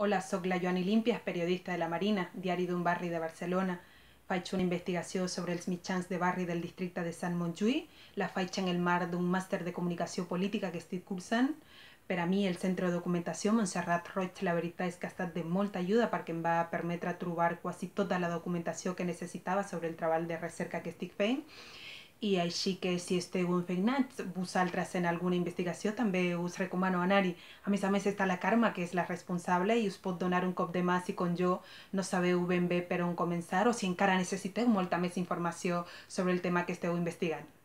Hola, soc la Joani Límpies, periodista de La Marina, diari d'un barri de Barcelona. Faig una investigació sobre els mitjans de barri del districte de Sant Montjuïc. La faig en el marc d'un màster de comunicació política que estic cursant. Per a mi, el Centre de Documentació Montserrat Roig, la veritat és que ha estat de molta ajuda perquè em va permetre trobar quasi tota la documentació que necessitava sobre el treball de recerca que estic fent. I així que si esteu infecnats, vosaltres en alguna investigació també us recomano anar-hi. A més està la Carme, que és la responsable, i us pot donar un cop de mà si com jo no sabeu ben bé per on començar o si encara necessiteu molta més informació sobre el tema que esteu investigant.